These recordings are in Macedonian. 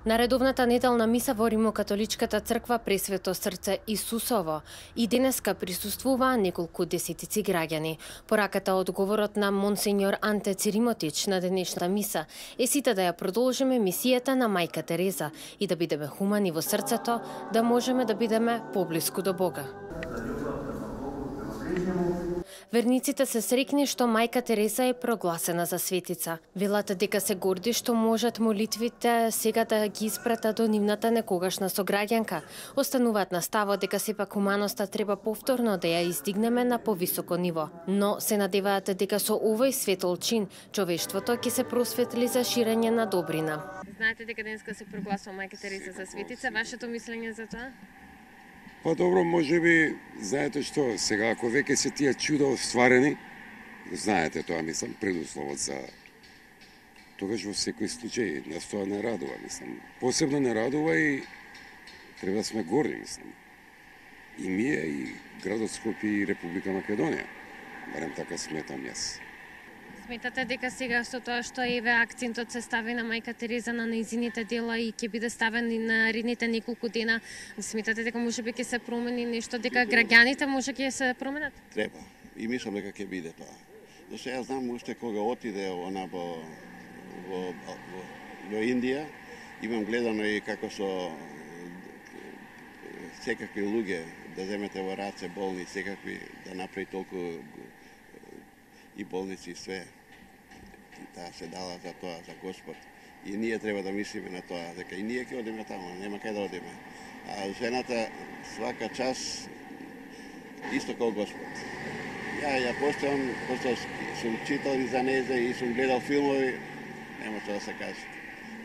На редовната неделна миса во Римокатоличката црква Пресвето срце Исусово и денеска присуствуваа неколку десетици граѓани. Пораката од говорот на монсенјор Анте Циримотич на денешната миса е сите да ја продолжиме мисијата на Мајка Тереза и да бидеме хумани во срцето, да можеме да бидеме поблиску до Бога. Верниците се среќни што Мајка Тереза е прогласена за светица. Велат дека се горди што можат молитвите сега да ги испратат до нивната некогашна сограѓанка. Остануваат на ставот дека сепак хуманоста треба повторно да ја издигнеме на повисоко ниво. Но се надеваат дека со овој светол чин човештвото ќе се просветли за ширење на добрина. Знаете дека денеска се прогласува Мајка Тереза за светица. Вашето мислење за тоа? Па добро, можеби, знаете што, сега ако веќе се тие чуда остварени, знаете тоа, мислам, предусловот за тогаш во секој случај нас тоа не радува, мислам. Посебно не радува и треба да сме горди, мислам. И ние, и градот Скопје, и Република Македонија. Барем така сметам јас. Сметате дека сега со тоа што еве акцентот се стави на Мајка Тереза на нејзините дела и ќе биде ставен и на наредните неколку дена, сметате дека можеби ќе се промени нешто, дека граѓаните може ќе се променат? Треба. И мислам дека ќе биде тоа. Зашто јас знам уште кога отиде она во Индија, имам гледано и како со секакви луѓе да земете во раце болни, секакви да направи толку и болници и све. Таа се дала за тоа, за Господ. И ние треба да мислиме на тоа, дека и ние ќе одиме таму, нема кај да одиме. А жената свака час исто како Господ. Ја постојам, пошто сум читал и за нејзе и сум гледал филмови, нема што да се каже.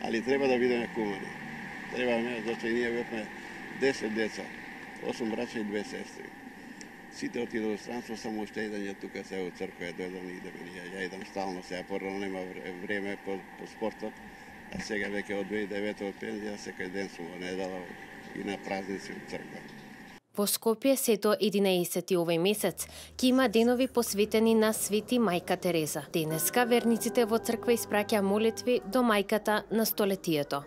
Али треба да бидеме хумани. Треба, зашто и ние бевме 10 деца, 8 браќа и 2 сестри. Сите отидоа во странство, само уште еден ја тука се во црква ја дојдам и идеме ние. Ја идам стално, сега порано нема време по спортот, а сега веќе од 2009 од пензија секој ден сум во недела и на празници во црква. Во Скопје сето 11 овој месец ќе има денови посветени на Свети Мајка Тереза. Денеска верниците во црква испраќаа молитви до мајката на столетието.